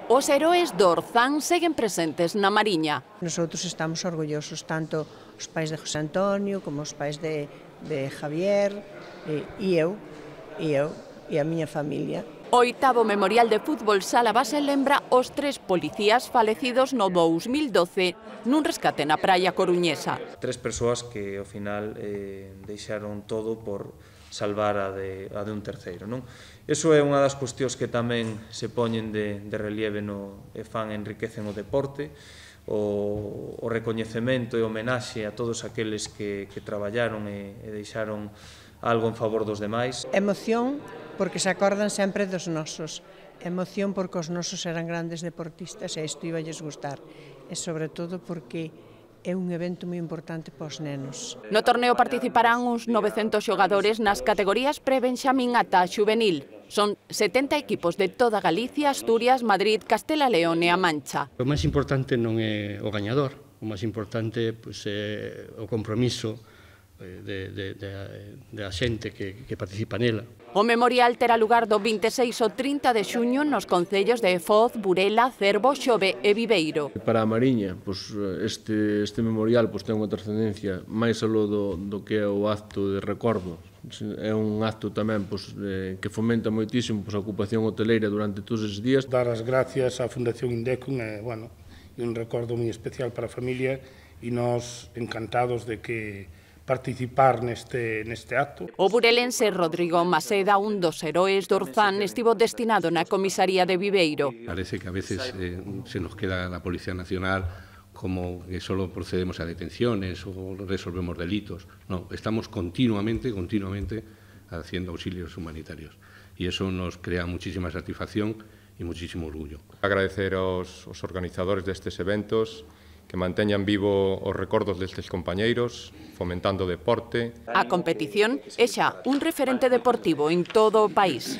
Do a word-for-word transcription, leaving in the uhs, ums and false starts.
Os heróis do Orzán seguen presentes na Mariña. Nosotros estamos orgullosos, tanto os pais de José Antonio como os pais de, de Javier e, e eu, e eu, e a miña familia. O oitavo Memorial de Fútbol Sala Base lembra os tres policías falecidos no dous mil doce nun rescate na praia coruñesa. Tres persoas que ao final eh, deixaron todo por salvar a de, a de un terceiro, non? Iso é unha das cuestións que tamén se poñen de, de relieve no, e fan enriquecen o deporte, o, o recoñecemento e homenaxe a todos aqueles que, que traballaron e, e deixaron algo en favor dos demais. Emoción porque se acordan sempre dos nosos. Emoción porque os nosos eran grandes deportistas e isto iba lles gustar. E sobre todo porque é un evento moi importante para os nenos. No torneo participarán uns novecentos xogadores nas categorías pre-benxamín ata xuvenil. Son setenta equipos de toda Galicia, Asturias, Madrid, Castela León e A Mancha. O máis importante non é o gañador, o máis importante pois, é o compromiso de, de, de, de a xente que, que participa nela. O memorial terá lugar do vinte e seis ao trinta de xuño nos concellos de Foz, Burela, Cervo, Xove e Viveiro. Para a Mariña, pois, este, este memorial pois, ten unha trascendencia máis aló do, do que é o acto de recordo. É un acto tamén pois, eh, que fomenta moitísimo pois, a ocupación hoteleira durante todos estes días. Dar as gracias á Fundación Indecum é bueno, un recordo moi especial para a familia e nós encantados de que participar neste, neste acto. O burelense Rodrigo Maseda, un dos heróis do Orzán, estivo destinado na comisaría de Viveiro. Parece que a veces eh, se nos queda la Policía Nacional como que solo procedemos a detenciones o resolvemos delitos. No, estamos continuamente, continuamente haciendo auxilios humanitarios. Y eso nos crea muchísima satisfacción y muchísimo orgullo. Agradecer aos, aos organizadores destes eventos que manteñan vivo os recordos destes compañeiros, fomentando o deporte. A competición é xa un referente deportivo en todo o país.